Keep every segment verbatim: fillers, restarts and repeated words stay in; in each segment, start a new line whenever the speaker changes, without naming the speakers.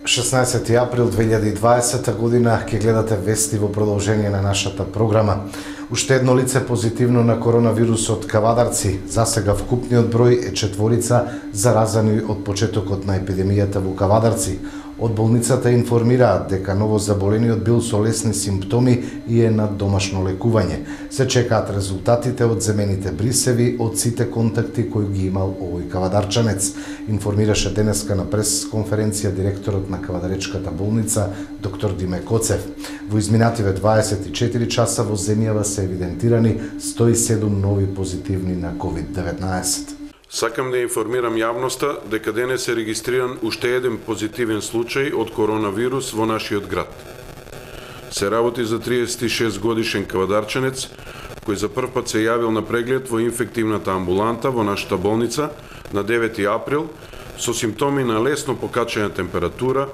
шеснаесети април две илјади и дваесета година ќе гледате вести во продолжение на нашата програма. Уште едно лице позитивно на коронавирусот Кавадарци. Засега вкупниот број е четворица заразени од почетокот на епидемијата во Кавадарци. Од болницата информираат дека новозаболениот бил со лесни симптоми и е на домашно лекување. Се чекаат резултатите од земените брисеви од сите контакти кои ги имал овој кавадарчанец. Информираше денеска на прес-конференција директорот на Кавадаречката болница доктор Диме Коцев. Во изминативе дваесет и четири часа во земјава се евидентирани сто и седум нови позитивни на ковид деветнаесет.
Сакам да информирам јавноста дека денес е регистриран уште еден позитивен случај од коронавирус во нашиот град. Се работи за триесет и шест годишен кавадарчанец кој за прв пат се јавил на преглед во инфективната амбуланта во нашата болница на девети април со симптоми на лесно покачена температура,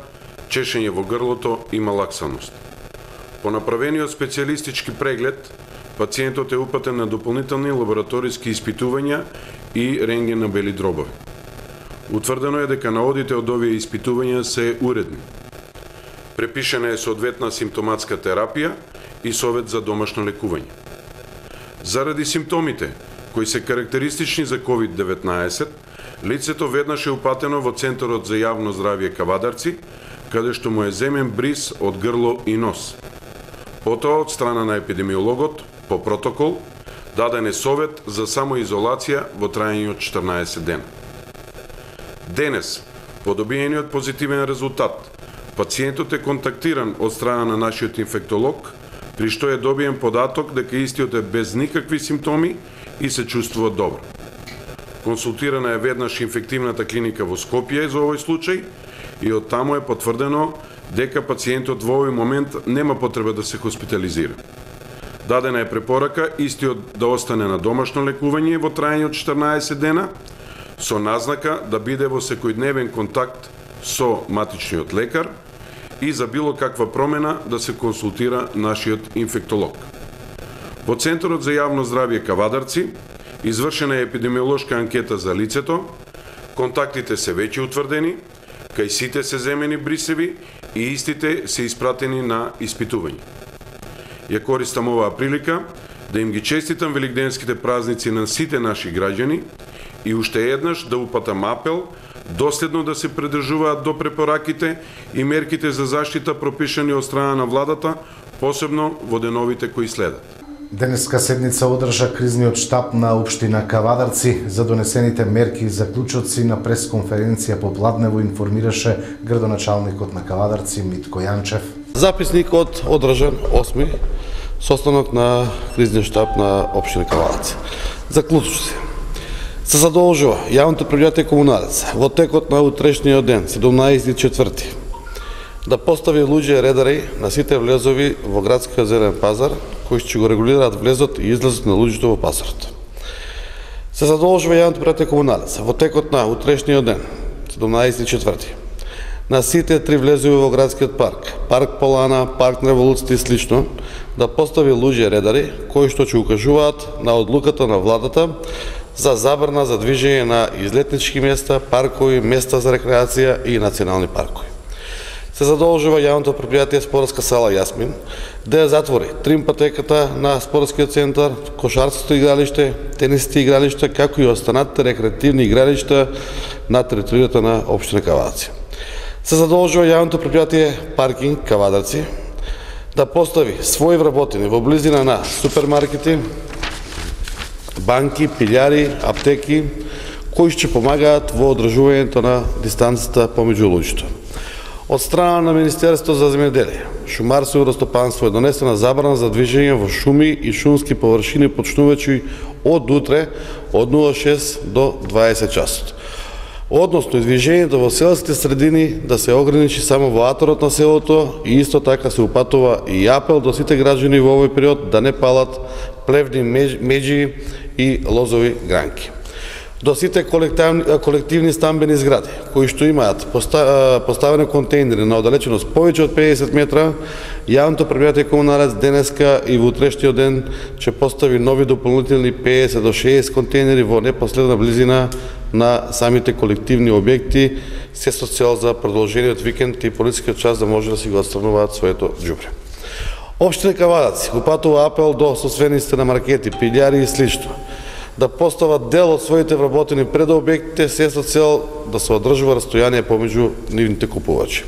чешење во грлото и малаксаност. По направениот специјалистички преглед, пациентот е упатен на дополнителни лабораториски испитувања и рентген на бели дробови. Утврдено е дека наодите од овие испитувања се уредни. Препишена е соодветна симптоматска терапија и совет за домашно лекување. Заради симптомите, кои се карактеристични за ковид деветнаесет, лицето веднаш е упатено во Центарот за јавно здравје Кавадарци, каде што му е земен бриз од грло и нос. Потоа од страна на епидемиологот, по протокол, даден е совет за самоизолација во трајање од четрнаесет дена. Денес, по добиениот позитивен резултат, пациентот е контактиран од страна на нашиот инфектолог, при што е добиен податок дека истиот е без никакви симптоми и се чувствува добро. Консултирана е веднаш инфективната клиника во Скопје за овој случај и од таму е потврдено дека пациентот во овој момент нема потреба да се хоспитализира. Дадена е препорака истиот да остане на домашно лекување во трајање од четрнаесет дена, со назнака да биде во секојдневен контакт со матичниот лекар и за било каква промена да се консултира нашиот инфектолог. Во Центарот за јавно здравје Кавадарци извршена е епидемиолошка анкета за лицето, контактите се веќе утврдени, кај сите се земени брисеви и истите се испратени на испитување. Ја користам оваа прилика да им ги честитам великденските празници на сите наши граѓани и уште еднаш да упатам апел доследно да се придржуваат до препораките и мерките за заштита пропишани од страна на владата, посебно во деновите кои следат.
Денеска седница одржа кризниот штаб на општина Кавадарци. За донесените мерки и заклучоци на пресконференција попладнево информираше градоначалникот на Кавадарци Митко Јанчев.
Записникот одржан осми состанок на кризниот штаб на општина Кавадарци. Заклучоци. Се задолжува јавното предпријатие Комуналец во текот на утрешниот ден, седумнаесети четврти, да постави луѓе редари на сите влезови во градскиот зелен пазар, кои ќе го регулираат влезот и излезот на луѓето во пазарот. Се задолжува јавното предпријатие Комуналец во текот на утрешниот ден, седумнаесети четврти, на сите три влезови во градскиот парк, парк Полана, парк на Револуцијата и слично, да постави луѓе редари кои што ќе укажуваат на одлуката на владата за забрана за движење на излетнички места, паркови, места за рекреација и национални паркови. Се задолжува јавното предпријатие Спортска сала Јасмин да ја затвори тримпатеката на спортскиот центар, кошарското игралиште, тенисите игралишта, како и останатите рекреативни игралишта на територијата на општина Кавадарци. Се задолжува јавното предпријатие Паркинг Кавадарци да постави своји вработени во близина на супермаркети, банки, пилјари, аптеки, кои ќе помагаат во одржувањето на дистанцата помеѓу луѓето. Од страна на Министерството за земјоделие, шумарство и растопанство е донесена забрана за движење во шуми и шумски површини почнувачи од утре од нула шест до дваесет часот. Односно, движењето во селските средини да се ограничи само во аторот на селото и исто така се упатува и апел до сите граѓани во овој период да не палат плевни меџи и лозови гранки. До сите колективни, колективни стамбени згради, кои што имаат поставени контейнери на оддалеченост повеќе од педесет метра, јавното предпријатие Комуналец денеска и во утрешниот ден ќе постави нови дополнителни педесет до шеесет контейнери во непосредна близина на самите колективни објекти, се со цел за продолжениот викенд и полицискиот час да може да си го отстрануваат своето џубре. Општина Кавадарци упатува апел до собствениците на маркети, пилјари и слично да постават дел од своите вработени пред објектите, се со цел да се одржува растојание помеѓу нивните купувачи.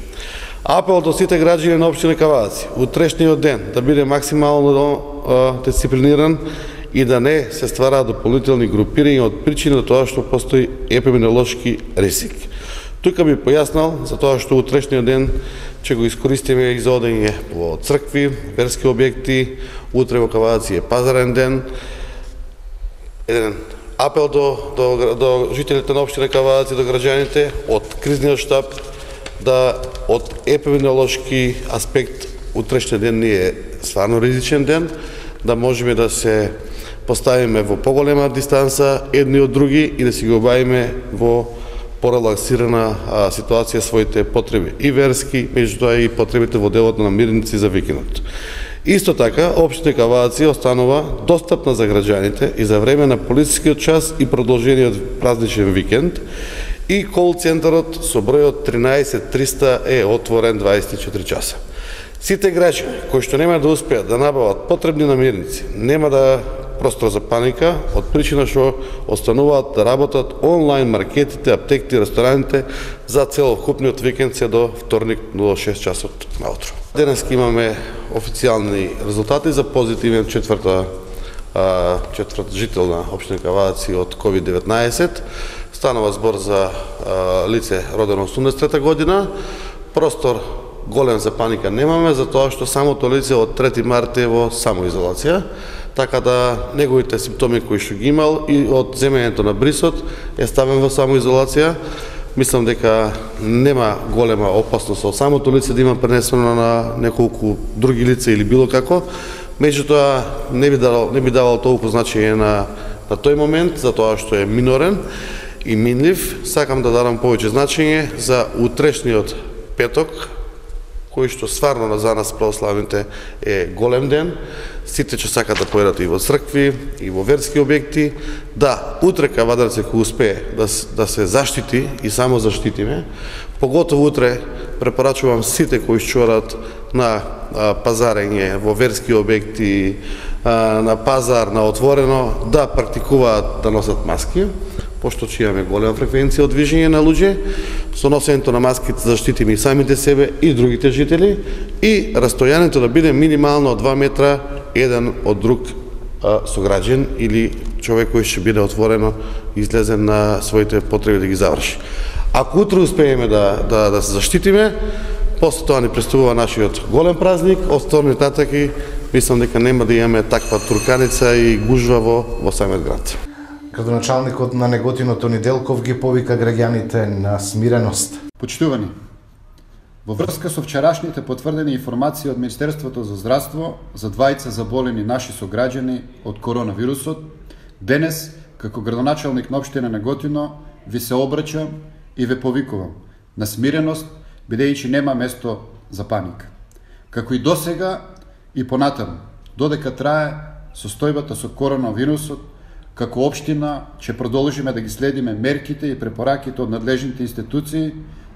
Апел до сите граѓани на општина Кавадарци утрешниот ден да биде максимално дисциплиниран и да не се ствараат дополнителни групирања од причина на тоа што постои епидемиолошки ризик. Тука би појаснал за тоа што утрешниот ден ќе го искористиме и за одење во цркви, верски објекти, утре во Кавадарци е пазарен ден. Еден апел до, до, до жителите на општина Кавадарци, до граѓаните, од кризниот штаб, да од епидемиолошки аспект утрешниот ден не е стварно ризичен ден, да можеме да се поставиме во поголема дистанса едни од други и да си го обавиме во порелаксирана а, ситуација своите потреби и верски, меѓутоа и потребите во делот на мирници за викендот. Исто така, општина Кавадарци останува достапна за граѓаните и за време на полицискиот час и продолжениот празничен викенд, и кол центарот со бројот тринаесет триста е отворен дваесет и четири часа. Сите граѓани кои што нема да успеат да набават потребни намирници, нема да простор за паника, од причина што остануваат да работат онлайн маркетите, аптеките и рестораните за целокупниот викенд се до вторник до шест часот наутро. Денес имаме официјални резултати за позитивен четврта, четврт жител на општина Кавадарци од ковид деветнаесет. Станува збор за лице родено осумдесет и трета година. Простор голем за паника немаме, затоа што самото лице од трети март е во самоизолација, така да неговите симптоми кои што ги имал и од земењето на брисот е ставен во самоизолација. Мислам дека нема голема опасност од самото лице да има пренесено на неколку други лица или било како, меѓутоа не би давал, не би давал толку значење на, на тој момент, затоа што е минорен и минлив. Сакам да дадам повеќе значење за утрешниот петок, кој што стварно за нас православните е голем ден. Сите ќе сакат да појдат и во цркви, и во верски објекти. Да, утре Кавадарци ќе успее да, да се заштити и само заштитиме. Поготово утре препорачувам сите кои што одат на а, пазарење во верски објекти, а, на пазар, на отворено, да практикуваат да носат маски, пошто че имаме голема фреквенција од движење на луѓе. Со носењето на маските заштитиме и самите себе и другите жители, и растојанието да биде минимално два метра еден од друг а, сограѓен или човек кој ќе биде отворено излезен на своите потреби да ги заврши. Ако утре успееме да, да, да се заштитиме, после тоа ни пристигува нашиот голем празник, од вторник натаки мислам дека нема да имаме таква турканица и гужва во, во самиот град.
Градоначалникот на Неготино Тони Делков ги повика граѓаните на смиреност.
Почитувани, во врска со вчерашните потврдени информации од Министерството за здравство за двајца заболени наши сограѓани од коронавирусот, денес, како градоначалник на општина Неготино, ви се обраќам и ве повикувам на смиреност, бидејќи нема место за паника. Како и досега и понатаму, додека трае состојбата со коронавирусот, како општина ќе продолжиме да ги следиме мерките и препораките од надлежните институции,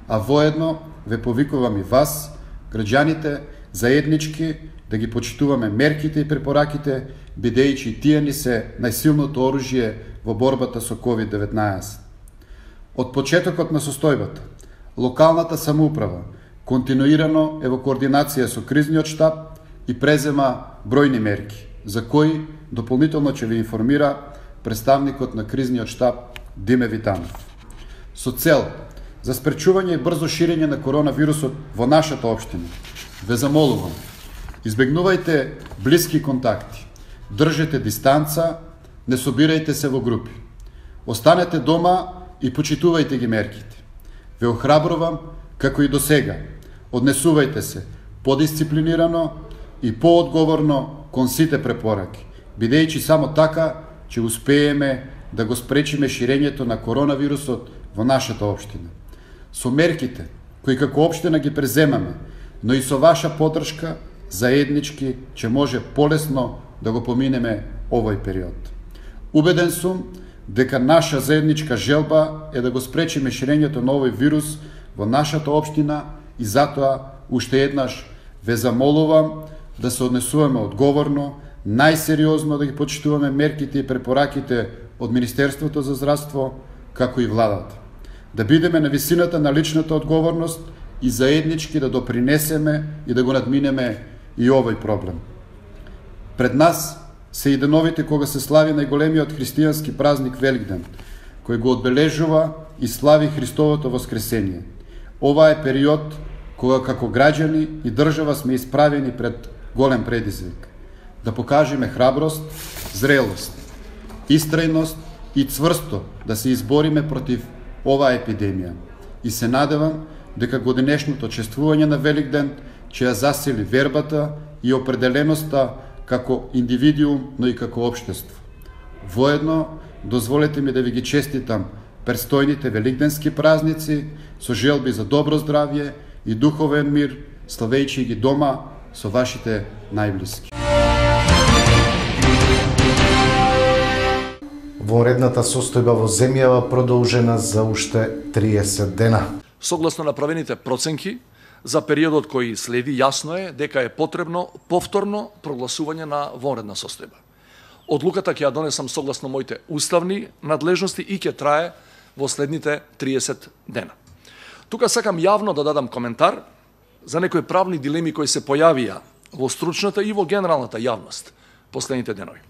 а воедно ве повикувам и вас, граѓаните, заеднички да ги почитуваме мерките и препораките, бидејќи тие ни се најсилното оружје во борбата со ковид деветнаесет. Од почетокот на состојбата, локалната самоуправа континуирано е во координација со кризниот штаб и презема бројни мерки, за кои дополнително ќе ви информира представникот на кризниот штаб Диме Витанов. Со цел за спречување и брзо ширење на коронавирусот во нашата општина, ве замолувам, избегнувајте блиски контакти, држете дистанца, не собирајте се во групи. Останете дома и почитувајте ги мерките. Ве охрабрувам, како и до сега, однесувајте се подисциплинирано и поодговорно кон сите препораки, бидејќи само така ќе успееме да го спречиме ширењето на коронавирусот во нашата општина. Со мерките кои како општина ги преземаме, но и со ваша поддршка, заеднички ќе може полесно да го поминеме овој период. Убеден сум дека наша заедничка желба е да го спречиме ширењето на овој вирус во нашата општина и затоа уште еднаш ве замолувам да се однесуваме одговорно, најсериозно да ги почитуваме мерките и препораките од Министерството за здравство, како и владата. Да бидеме на висината на личната одговорност и заеднички да допринесеме и да го надминеме и овој проблем. Пред нас се и деновите кога се слави најголемиот христијански празник Великден, кој го одбележува и слави Христовото воскресение. Ова е период кога како граѓани и држава сме исправени пред голем предизвик. Да покажеме храброст, зрелост, истрајност и цврсто да се избориме против оваа епидемија. И се надевам дека годинешното чествување на Великден ќе ја засили вербата и определеноста како индивидуум, но и како општество. Воедно, дозволете ми да ви ги честитам престојните великденски празници со желби за добро здравје и духовен мир, славејќи ги дома со вашите најблиски.
Вонредната состојба во земјава продолжена за уште триесет дена.
Согласно направените проценки, за периодот кој следи, јасно е дека е потребно повторно прогласување на вонредна состојба. Одлуката ќе ја донесам согласно моите уставни надлежности и ќе трае во следните триесет дена. Тука сакам јавно да дадам коментар за некои правни дилеми кои се појавија во стручната и во генералната јавност последните денови.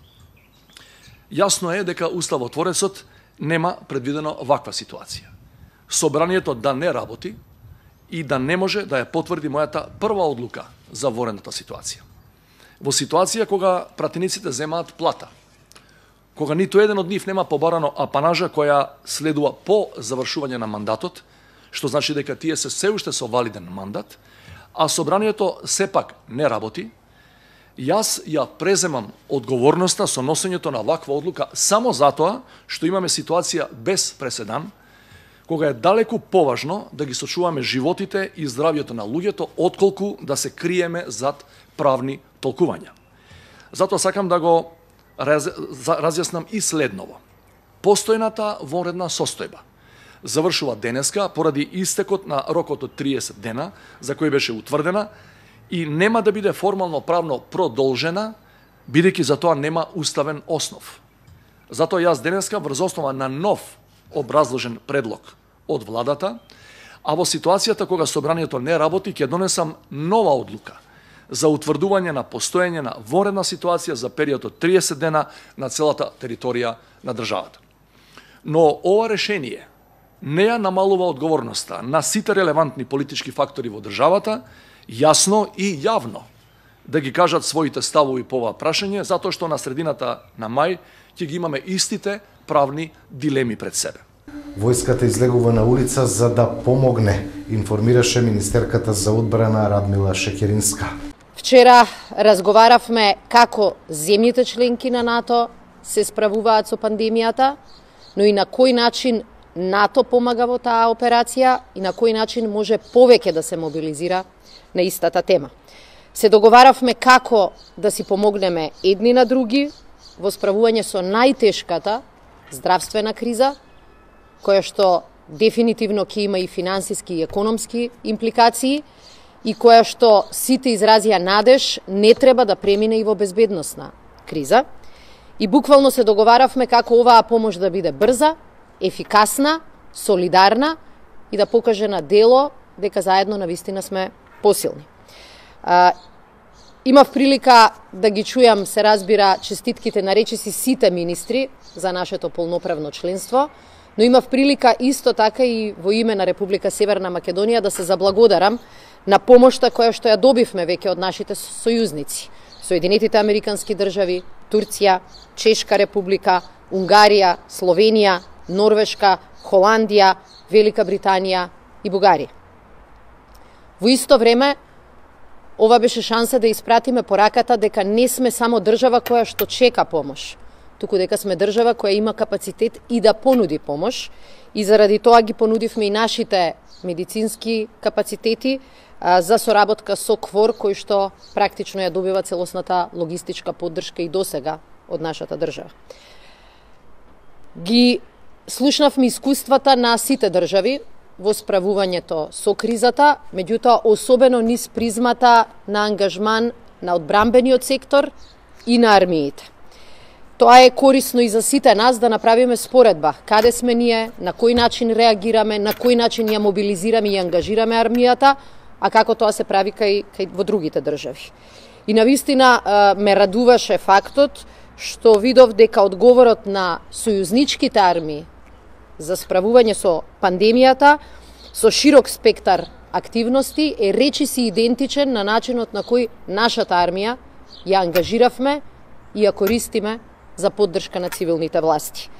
Јасно е дека Уставотворецот нема предвидено ваква ситуација. Собранието да не работи и да не може да ја потврди мојата прва одлука за вонредната ситуација. Во ситуација кога пратениците земаат плата, кога ниту еден од нив нема побарано апанажа која следува по завршување на мандатот, што значи дека тие се се уште со валиден мандат, а собранието сепак не работи, јас ја преземам одговорноста со носењето на ваква одлука само затоа што имаме ситуација без преседан, кога е далеку поважно да ги сочуваме животите и здравјето на луѓето, отколку да се криеме зад правни толкувања. Затоа сакам да го раз, разјаснам и следново. Постојната вонредна состојба завршува денеска поради истекот на рокот од триесет дена, за кој беше утврдена, и нема да биде формално правно продолжена, бидејќи за тоа нема уставен основ. Затоа јас денеска врз основа на нов образложен предлог од владата, а во ситуацијата кога собранието не работи, ќе донесам нова одлука за утврдување на постоење на вонредна ситуација за период од триесет дена на целата територија на државата. Но ова решение не ја намалува одговорноста на сите релевантни политички фактори во државата, јасно и јавно да ги кажат своите ставови по ова прашање, затоа што на средината на мај ќе ги имаме истите правни дилеми пред себе.
Војската излегува на улица за да помогне, информираше министерката за одбрана Радмила Шекеринска.
Вчера разговаравме како земјите членки на НАТО се справуваат со пандемијата, но и на кој начин НАТО помага во таа операција и на кој начин може повеќе да се мобилизира на истата тема. Се договаравме како да си помогнеме едни на други во справување со најтешката здравствена криза, која што дефинитивно ќе има и финансиски и економски импликации и која што сите изразија надеж не треба да премине и во безбедносна криза. И буквално се договаравме како оваа помош да биде брза, ефикасна, солидарна и да покаже на дело дека заедно навистина сме посилни. А, имав прилика да ги чујам, се разбира, честитките на речиси сите министри за нашето полноправно членство, но имав прилика исто така и во име на Република Северна Македонија да се заблагодарам на помошта која што ја добивме веќе од нашите сојузници. Соединетите Американски држави, Турција, Чешка република, Унгарија, Словенија, Норвешка, Холандија, Велика Британија и Бугарија. Во исто време, ова беше шанса да испратиме пораката дека не сме само држава која што чека помош, туку дека сме држава која има капацитет и да понуди помош, и заради тоа ги понудивме и нашите медицински капацитети а, за соработка со КВОР, кој што практично ја добива целосната логистичка поддршка и досега од нашата држава. Ги слушнавме искуствата на сите држави во справувањето со кризата, меѓутоа особено низ призмата на ангажман на одбрамбениот сектор и на армиите. Тоа е корисно и за сите нас да направиме споредба каде сме ние, на кој начин реагираме, на кој начин ја мобилизираме и ангажираме армијата, а како тоа се прави кај, кај во другите држави. И навистина ме радуваше фактот што видов дека одговорот на сојузничките армии за справување со пандемијата со широк спектар активности е речиси идентичен на начинот на кој нашата армија ја ангажиравме и ја користиме за поддршка на цивилните власти.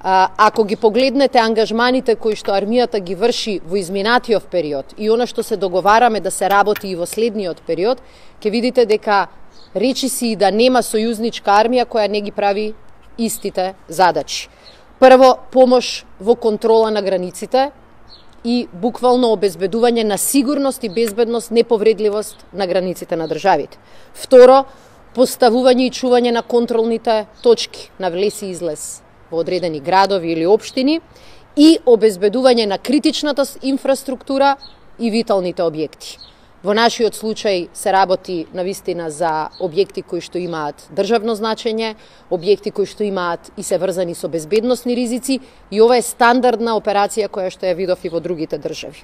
А, ако ги погледнете ангажманите кои што армијата ги врши во изминатиот период и она што се договараме да се работи и во следниот период, ќе видите дека речиси и да нема сојузничка армија која не ги прави истите задачи. Прво, помош во контрола на границите и буквално обезбедување на сигурност и безбедност, неповредливост на границите на државите. Второ, поставување и чување на контролните точки на влез и излез во одредени градови или општини и обезбедување на критичната инфраструктура и виталните објекти. Во нашиот случај се работи навистина за објекти кои што имаат државно значење, објекти кои што имаат и се врзани со безбедносни ризици, и ова е стандардна операција која што ја видов и во другите држави.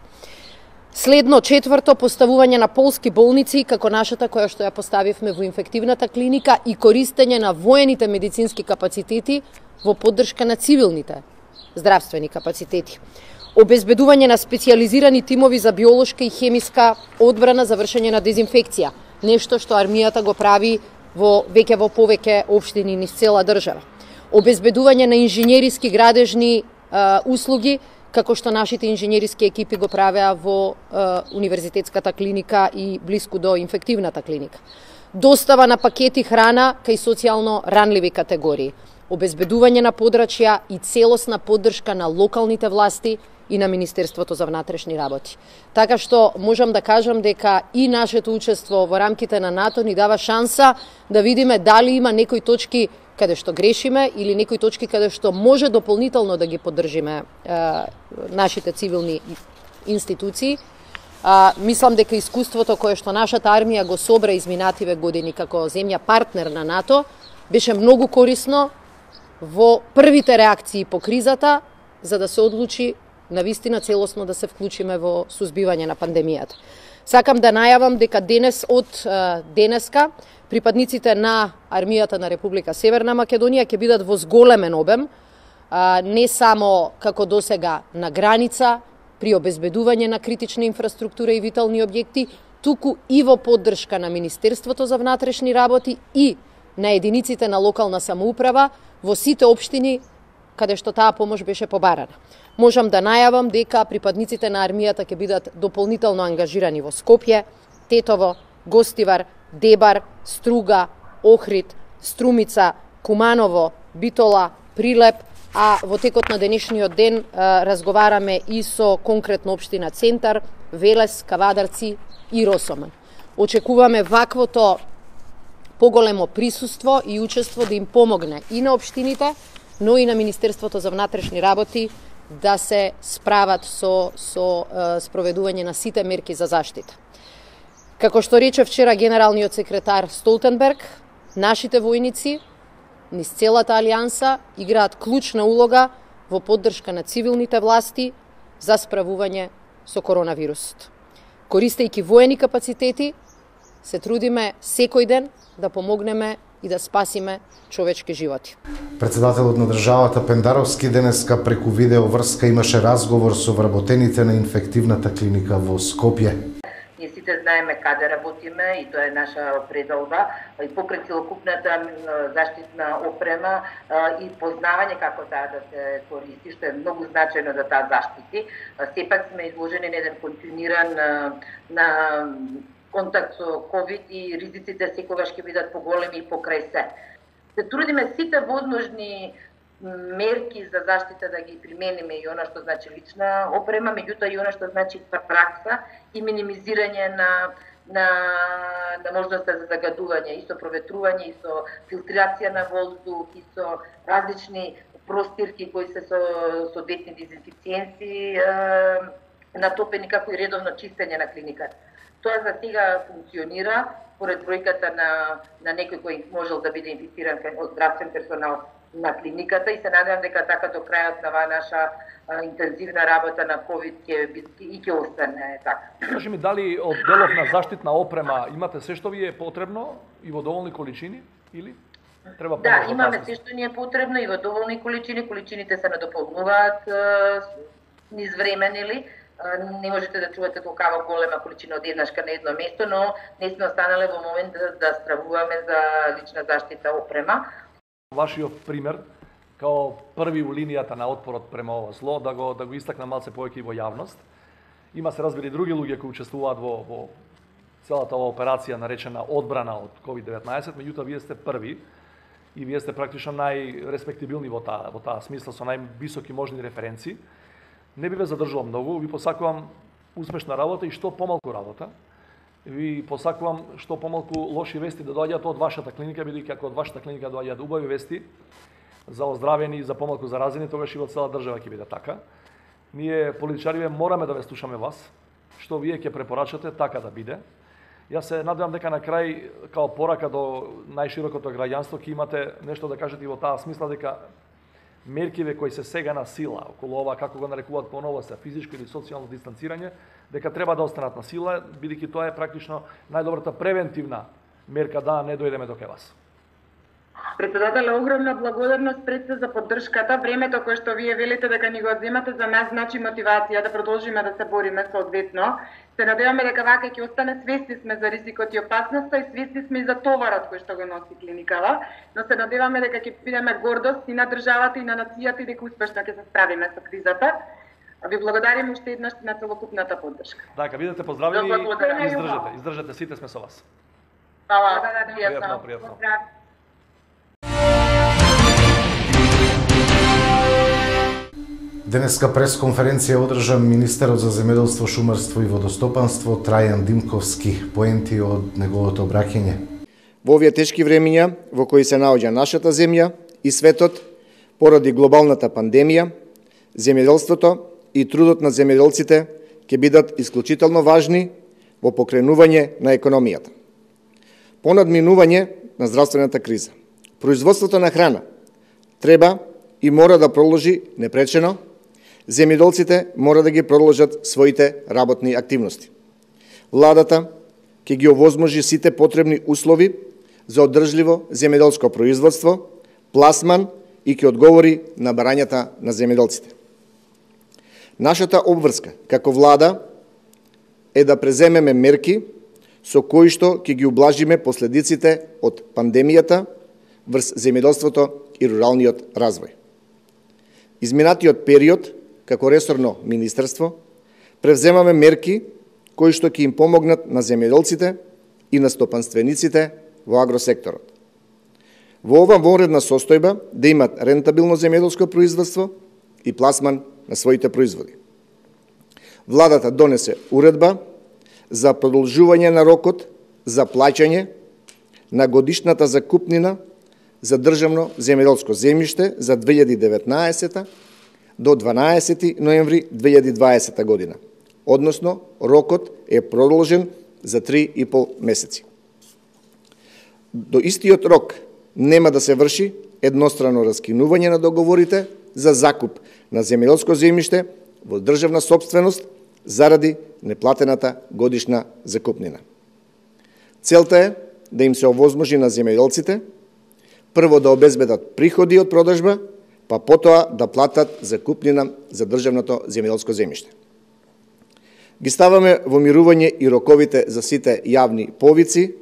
Следно, четврто, поставување на полски болници, како нашата која што ја поставивме во инфективната клиника, и користење на воените медицински капацитети во поддршка на цивилните здравствени капацитети. Обезбедување на специјализирани тимови за биолошка и хемиска одбрана за вршење на дезинфекција, нешто што армијата го прави во веќе во повеќе општини низ цела држава. Обезбедување на инженериски градежни а, услуги, како што нашите инженериски екипи го правеа во а, универзитетската клиника и блиску до инфективната клиника. Достава на пакети храна кај социјално ранливи категории. Обезбедување на подрачја и целосна поддршка на локалните власти и на Министерството за внатрешни работи. Така што можам да кажам дека и нашето учество во рамките на НАТО ни дава шанса да видиме дали има некои точки каде што грешиме или некои точки каде што може дополнително да ги поддржиме е, нашите цивилни институции. А, мислам дека искуството кое што нашата армија го собра изминативе години како земја партнер на НАТО беше многу корисно во првите реакции по кризата, за да се одлучи навистина целосно да се вклучиме во сузбивање на пандемијата. Сакам да најавам дека денес од денеска припадниците на армијата на Република Северна Македонија ќе бидат во зголемен обем, не само како досега на граница, при обезбедување на критична инфраструктура и витални објекти, туку и во поддршка на Министерството за внатрешни работи и на единиците на локална самоуправа во сите општини каде што таа помош беше побарана. Можам да најавам дека припадниците на армијата ќе бидат дополнително ангажирани во Скопје, Тетово, Гостивар, Дебар, Струга, Охрид, Струмица, Куманово, Битола, Прилеп, а во текот на денешниот ден а, разговараме и со конкретно општина Центар, Велес, Кавадарци и Росоман. Очекуваме ваквото поголемо присуство и учество да им помогне и на општините, но и на Министерството за внатрешни работи да се справат со, со е, спроведување на сите мерки за заштита. Како што рече вчера генералниот секретар Столтенберг, нашите војници низ целата алијанса играат клучна улога во поддршка на цивилните власти за справување со коронавирусот. Користејќи воени капацитети, се трудиме секој ден да помогнеме и да спасиме човечки животи.
Председателот на државата Пендаровски денеска преку видео врска имаше разговор со вработените на инфективната клиника во Скопје.
Ние сите знаеме каде работиме и тоа е наша предалба и покрај целокупната заштитна опрема и познавање како таа да се користи, што е многу значајно да таа заштити. Сепак сме изложени на еден континуиран на контакт со ковид и ризиците секогаш ќе бидат поголеми и покрај се. Се трудиме сите возможни мерки за заштита да ги примениме, и она што значи лична опрема, меѓутоа и она што значи пракса и минимизирање на на на можноста за загадување, и со проветрување, и со филтрација на воздух, и со различни простирки кои се со соодветни дезинфициенти натопени, како и редовно чистење на клиниката. Тоа за сега функционира, поред бројката на на некој кој можел да биде инфициран од здравствен персонал на клиниката, и се надевам дека така до крајот на оваа наша а, интензивна работа на ковид ќе и ќе остане така.
Кажи ми, дали од делов на заштитна опрема имате се што ви е потребно и во доволни количини или треба помош?
Да, имаме се што ни е потребно и во доволни количини, количините се надополнуваат низ време, нели? Не можете да чувате толкава голема количина од еднашка на едно место, но не сме останале во момент да, да стравуваме за лична заштита опрема.
Вашиот пример, као први у линијата на отпорот према ова зло, да го, да го истакна малце повеќе и во јавност. Има се разбери други луѓе кои учествуваат во, во целата ова операција наречена одбрана од ковид деветнаесет, меѓутоа вие сте први и вие сте практично најреспектибилни во таа, во таа смисла, со највисоки можни референции. Не би ве задржувам многу, ви посакувам успешна работа и што помалку работа. Ви посакувам што помалку лоши вести да доаѓаат од вашата клиника, бидејќи ако од вашата клиника доаѓаат убави вести за оздравени и за помалку заразени, тогаш и во цела држава ќе биде така. Ние политичариве мораме да ве слушаме вас, што вие ќе препорачате така да биде. Јас се надевам дека на крај, као порака до најширокото граѓанство, ќе имате нешто да кажете и во таа смисла дека меркиве кои се сега на сила, околу ова, како го нарекуваат поново се, физичко или социјално дистанцирање, дека треба да останат на сила, бидејќи тоа е практично најдобрата превентивна мерка да не дојдеме до кај вас.
Председателе, огромна благодарност пред се за поддршката. Времето кое што вие велите дека ни го одземате за нас значи мотивација да продолжиме да се бориме соодветно. Се надеваме дека вака ќе остане, свесни сме за ризикот и опасноста и свесни сме и за товарот кој што го носи клиникава, но се надеваме дека ќе бидеме гордост и на државата и на нацијата и дека успешно ќе се справиме со кризата. Ви благодарим уште еднаш на целокупната поддршка.
Така, бидете поздравени и издржете, издржете, сите сме со вас.
Фала,
пријатно, пријатно.
Денеска пресконференција одржа министерот за земјоделство, шумарство и водостопанство Трајан Димковски. Поенти од неговото обраќање.
Во овие тешки времиња во кои се наоѓа нашата земја и светот поради глобалната пандемија, земјоделството и трудот на земјоделците ќе бидат исклучително важни во покренување на економијата. По надминување на здравствената криза, производството на храна треба и мора да продолжи непречено. Земјоделците мора да ги продолжат своите работни активности. Владата ќе ги овозможи сите потребни услови за одржливо земјоделско производство, пласман и ќе одговори на барањата на земјоделците. Нашата обврска како влада е да преземеме мерки со кои што ќе ги ублажиме последиците од пандемијата врз земјоделството и руралниот развој. Изминатиот период, како ресорно министерство, превземаме мерки кои што ќе им помогнат на земјоделците и на стопанствениците во агросекторот. Во ова вонредна состојба да имат рентабилно земјоделско производство и пласман на своите производи. Владата донесе уредба за продолжување на рокот за плаќање на годишната закупнина за државно земјоделско земјиште за две илјади и деветнаесета до дванаесети ноември две илјади и дваесета година. Односно, рокот е продолжен за три и пол месеци. До истиот рок нема да се врши еднострано раскинување на договорите за закуп на земјоделско земјиште во државна сопственост заради неплатената годишна закупнина. Целта е да им се овозможи на земјоделците прво да обезбедат приходи од продажба, па потоа да платат закупнина за државното земјоделско земјиште. Ги ставаме во мирување и роковите за сите јавни повици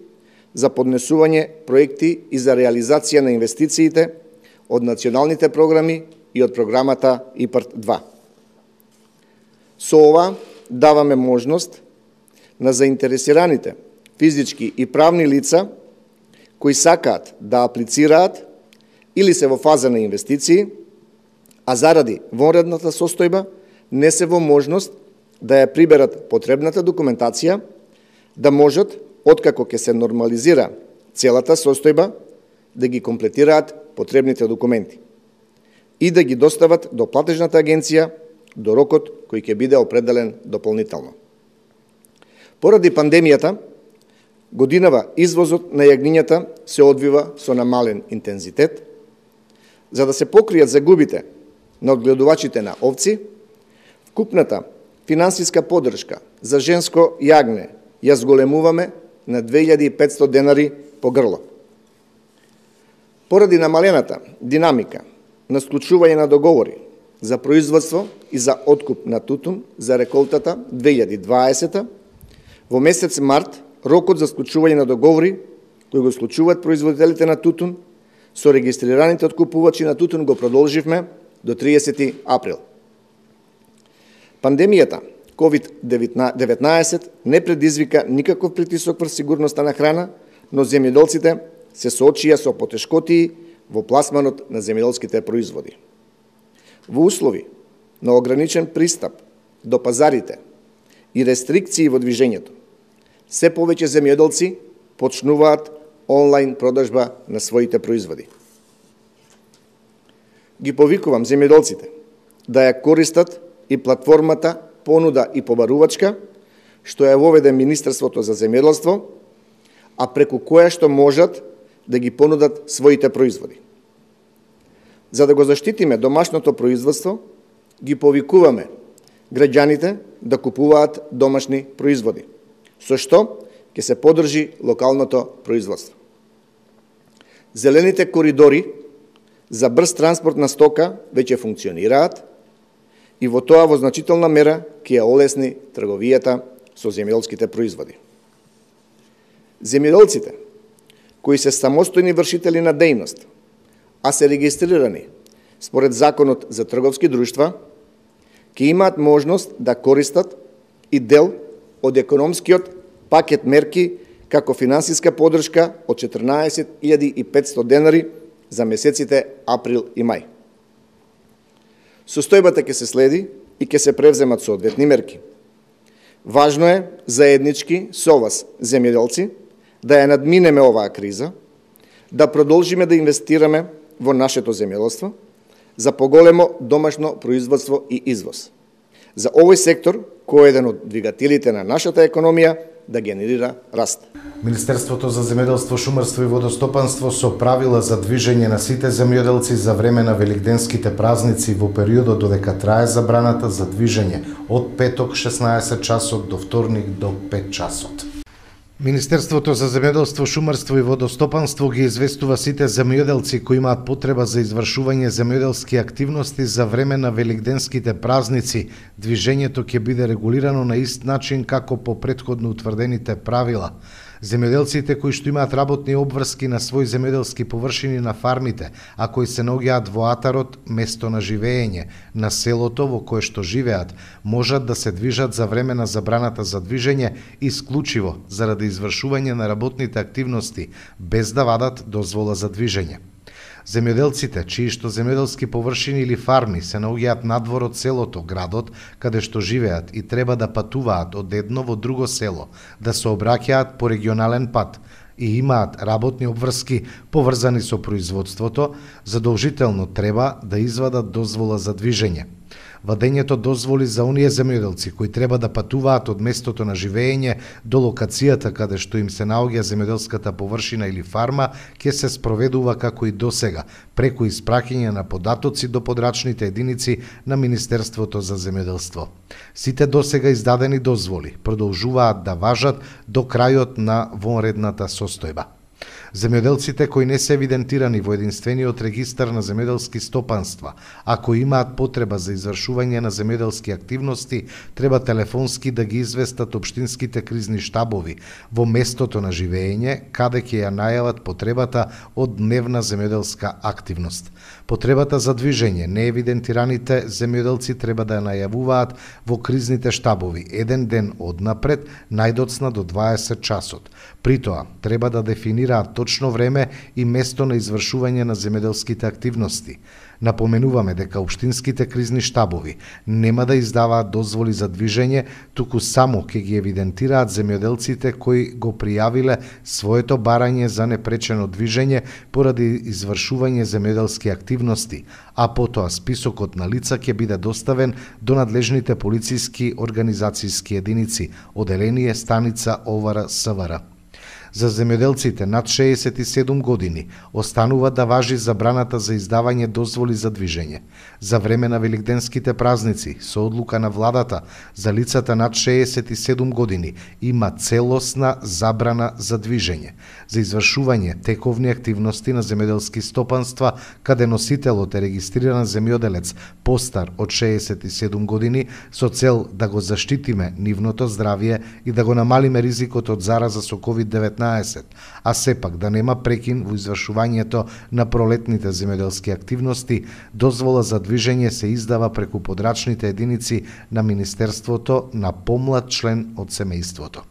за поднесување проекти и за реализација на инвестициите од националните програми и од програмата ИПАРД два. Со ова даваме можност на заинтересираните физички и правни лица кои сакаат да аплицираат или се во фаза на инвестиции, а заради вонредната состојба не се во можност да ја приберат потребната документација, да можат, откако ќе се нормализира целата состојба, да ги комплетираат потребните документи и да ги достават до платежната агенција до рокот кој ќе биде определен дополнително. Поради пандемијата, годинава извозот на јагнињата се одвива со намален интензитет. За да се покријат загубите на одгледувачите на овци, вкупната финансиска поддршка за женско јагне ја зголемуваме на две илјади и петстотини денари по грло. Поради намалената динамика на склучување на договори за производство и за откуп на тутун за реколтата две илјади и дваесета, во месец март рокот за склучување на договори кои го склучуваат производителите на тутун со регистрираните откупувачи на тутун го продолживме до триесети април. Пандемијата ковид деветнаесет не предизвика никаков притисок врз сигурноста на храна, но земјоделците се соочија со потешкотии во пласманот на земјоделските производи. Во услови на ограничен пристап до пазарите и рестрикции во движењето, се повеќе земјоделци почнуваат онлайн продажба на своите производи. Ги повикувам земјоделците да ја користат и платформата Понуда и побарувачка, што ја воведе Министерството за земјоделство, а преку која што можат да ги понудат своите производи. За да го заштитиме домашното производство, ги повикуваме граѓаните да купуваат домашни производи, со што ќе се поддржи локалното производство. Зелените коридори за брз транспорт на стока веќе функционираат и во тоа во значителна мера ќе ја олесни трговијата со земјоделските производи. Земјоделците кои се самостојни вршители на дејност, а се регистрирани според Законот за трговски друштва, ќе имаат можност да користат и дел од економскиот пакет мерки како финансиска поддршка од четрнаесет илјади и петстотини денари за месеците април и мај. Состојбата ќе се следи и ќе се превземат соодветни мерки. Важно е заеднички со вас, земјоделци, да ја надминеме оваа криза, да продолжиме да инвестираме во нашето земјоделство, за поголемо домашно производство и извоз. За овој сектор, кој е еден од двигателите на нашата економија, да генерира раст.
Министерството за земјоделство, шумарство и водостопанство со правила за движење на сите земјоделци за време на великденските празници во периодот додека трае забраната за движење од петок шеснаесет часот до вторник до пет часот. Министерството за земјоделство, шумарство и водостопанство ги известува сите земјоделци кои имаат потреба за извршување земјоделски активности за време на великденските празници. Движењето ќе биде регулирано на ист начин како по претходно утврдените правила. Земјоделците кои што имаат работни обврски на своји земјоделски површини на фармите, а кои се наоѓаат во атарот, место на живење, на селото во кое што живеат, можат да се движат за време на забраната за движење исклучиво заради извршување на работните активности, без да вадат дозвола за движење. Земјоделците, чии што земјоделски површини или фарми се наоѓаат надвор од селото, градот, каде што живеат и треба да патуваат од едно во друго село, да се обраќаат по регионален пат и имаат работни обврски поврзани со производството, задолжително треба да извадат дозвола за движење. Вадењето дозволи за оние земјоделци кои треба да патуваат од местото на живење до локацијата каде што им се наоѓа земјоделската површина или фарма, ќе се спроведува како и досега, преку испраќање на податоци до подрачните единици на Министерството за земјоделство. Сите досега издадени дозволи продолжуваат да важат до крајот на вонредната состојба. Земјоделците кои не се евидентирани во единствениот регистар на земјоделски стопанства, ако имаат потреба за извршување на земјоделски активности, треба телефонски да ги известат општинските кризни штабови во местото на живење, каде ќе ја најават потребата од дневна земјоделска активност. Потребата за движење неевидентираните земјоделци треба да ја најавуваат во кризните штабови еден ден однапред, најдоцна до дваесет часот. При тоа треба да дефинираат точно точно време и место на извршување на земјоделските активности. Напоменуваме дека општинските кризни штабови нема да издаваат дозволи за движење, туку само ќе ги евидентираат земјоделците кои го пријавиле своето барање за непречено движење поради извршување земјоделски активности, а потоа списокот на лица ќе биде доставен до надлежните полициски организацијски единици, оделение станица ОВР СВР. За земјоделците над шеесет и седум години останува да важи забраната за издавање дозволи за движење. За време на великденските празници, со одлука на владата, за лицата над шеесет и седум години има целосна забрана за движење, за извршување тековни активности на земјоделски стопанства, каде носителот е регистриран земјоделец постар од шеесет и седум години, со цел да го заштитиме нивното здравје и да го намалиме ризикот од зараза со ковид деветнаесет, а сепак да нема прекин во извршувањето на пролетните земјоделски активности, дозвола за движење се издава преку подрачните единици на Министерството на помлад член од семејството.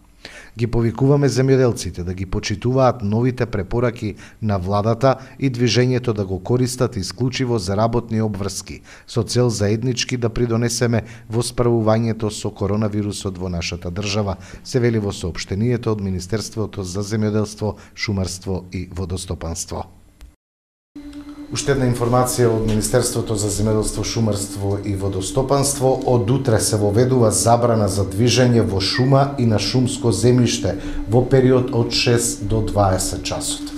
Ги повикуваме земјоделците да ги почитуваат новите препораки на владата и движењето да го користат исклучиво за работни обврски, со цел заеднички да придонесеме во справувањето со коронавирусот во нашата држава, се вели во соопштението од Министерството за земјоделство, шумарство и водостопанство. Уште една информација од Министерството за земјоделство, шумарство и водостопанство. Од утре се воведува забрана за движење во шума и на шумско земјиште во период од шест до дваесет часот.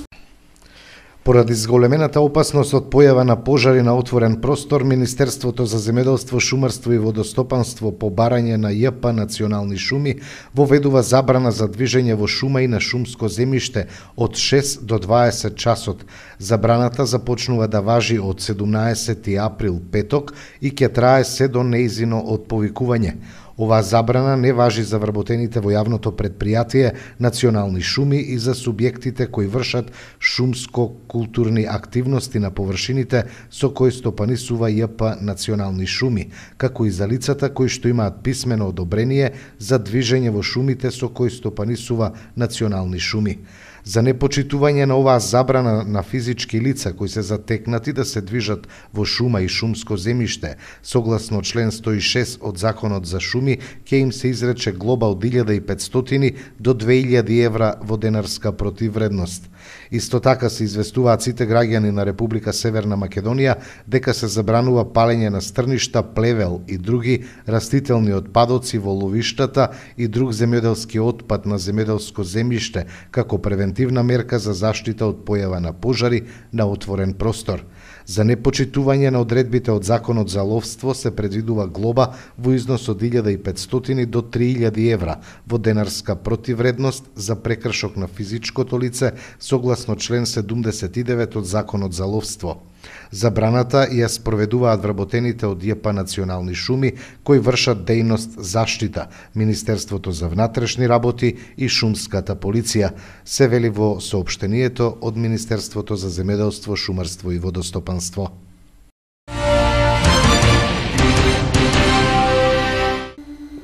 Поради зголемената опасност од појава на пожари на отворен простор, Министерството за земјоделство, шумарство и водостопанство по барање на ЈП Национални шуми воведува забрана за движење во шума и на шумско земјиште од шест до дваесет часот. Забраната започнува да важи од седумнаесети април, петок, и ќе трае се до нејзино отповикување. Оваа забрана не важи за вработените во јавното предпријатие Национални шуми и за субјектите кои вршат шумско-културни активности на површините со кои стопанисува ЈП Национални шуми, како и за лицата кои што имаат писмено одобрение за движење во шумите со кои стопанисува Национални шуми. За непочитување на оваа забрана на физички лица кои се затекнати да се движат во шума и шумско земјиште, согласно член сто и шест од Законот за шуми, ќе им се изрече глоба од илјада и петстотини до две илјади евра во денарска противвредност. Исто така се известуваат сите граѓани на Република Северна Македонија дека се забранува палење на стрништа, плевел и други растителни отпадоци во ловиштата и друг земјоделски отпад на земјоделско земјиште како превентивна мерка за заштита од појава на пожари на отворен простор. За непочитување на одредбите од Законот за ловство се предвидува глоба во износ од илјада и петстотини до три илјади евра во денарска противвредност за прекршок на физичкото лице согласно член седумдесет и девет од Законот за ловство. Забраната ја спроведуваат вработените од ЈП Национални шуми кои вршат дејност заштита, Министерството за внатрешни работи и шумската полиција, се вели во соопштението од Министерството за земјоделство, шумарство и водостопанство.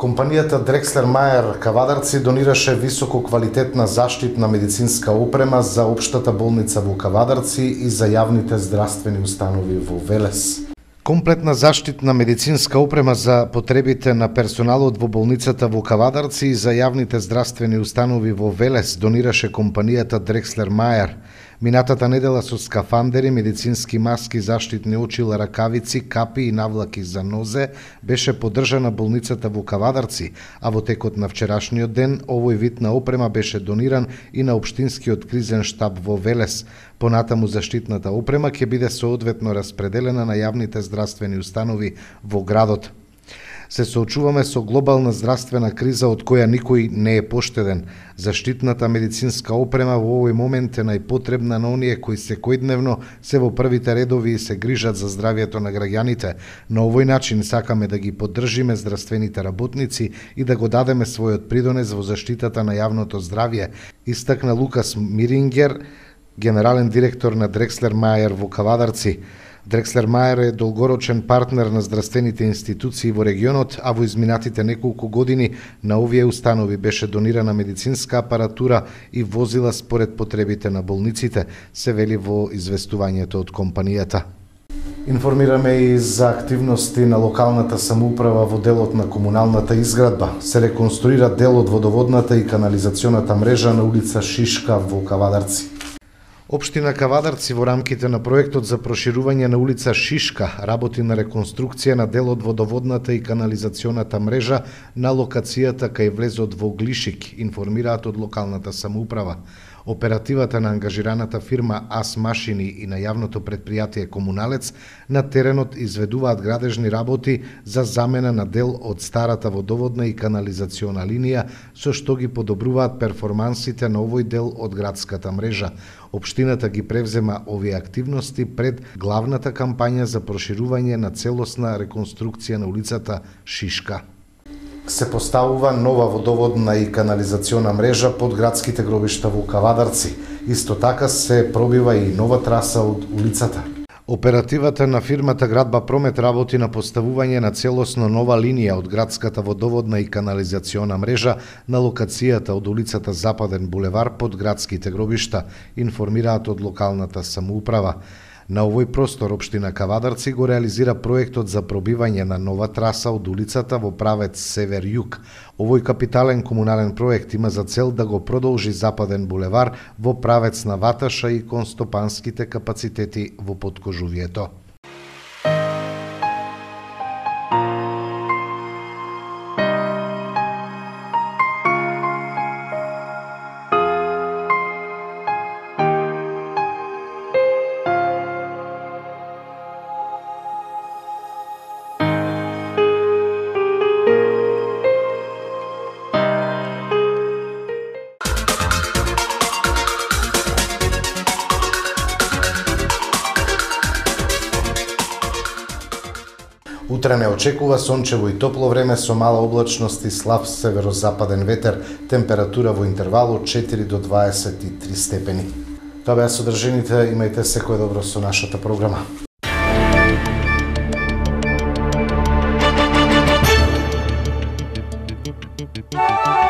Компанијата Дрекслер Мајер Кавадарци донираше високо квалитетна заштитна медицинска опрема за општата болница во Кавадарци и за јавните здравствени установи во Велес. Комплетна заштитна медицинска опрема за потребите на персоналот во болницата во Кавадарци и за јавните здравствени установи во Велес донираше компанијата Дрекслер Мајер. Минатата недела со скафандери, медицински маски, заштитни очила, ракавици, капи и навлаки за нозе беше поддржана болницата во Кавадарци, а во текот на вчерашниот ден овој вид на опрема беше дониран и на општинскиот кризен штаб во Велес. Понатаму заштитната опрема ќе биде соодветно распределена на јавните здравствени установи во градот. Се соочуваме со глобална здравствена криза од која никој не е поштеден. Заштитната медицинска опрема во овој момент е најпотребна на оние кои секојдневно се во првите редови и се грижат за здравјето на граѓаните. На овој начин сакаме да ги поддржиме здравствените работници и да го дадеме својот придонес во заштитата на јавното здравје, истакна Лукас Мирингер, генерален директор на Дрекслер Мајер во Кавадарци. Дрекслер Мајер е долгорочен партнер на здравствените институции во регионот, а во изминатите неколку години на овие установи беше донирана медицинска апаратура и возила според потребите на болниците, се вели во известувањето од компанијата. Информираме и за активности на локалната самоуправа во делот на комуналната изградба. Се реконструира дел од водоводната и канализационата мрежа на улица Шишка во Кавадарци. Општина Кавадарци во рамките на проектот за проширување на улица Шишка работи на реконструкција на дел од водоводната и канализационата мрежа на локацијата кај влезот во Глишик, информираат од локалната самоуправа. Оперативата на ангажираната фирма АС Машини и на јавното предпријатие Комуналец на теренот изведуваат градежни работи за замена на дел од старата водоводна и канализациона линија, со што ги подобруваат перформансите на овој дел од градската мрежа. Општината ги превзема овие активности пред главната кампања за проширување на целосна реконструкција на улицата Шишка. Се поставува нова водоводна и канализациона мрежа под градските гробишта во Кавадарци. Исто така се пробива и нова траса од улицата. Оперативата на фирмата Градба Промет работи на поставување на целосно нова линија од градската водоводна и канализациона мрежа на локацијата од улицата Западен булевар под градските гробишта, информираат од локалната самоуправа. На овој простор општина Кавадарци го реализира проектот за пробивање на нова траса од улицата во правец север-југ. Овој капитален комунален проект има за цел да го продолжи Западен булевар во правец на Ваташа и кон стопанските капацитети во Подкожувието. Утре не очекува сончево и топло време со мала облачност и слаб северозападен ветер, температура во интервал од четири до дваесет и три степени. Тоа беа содржините, имајте секое добро со нашата програма.
Bye.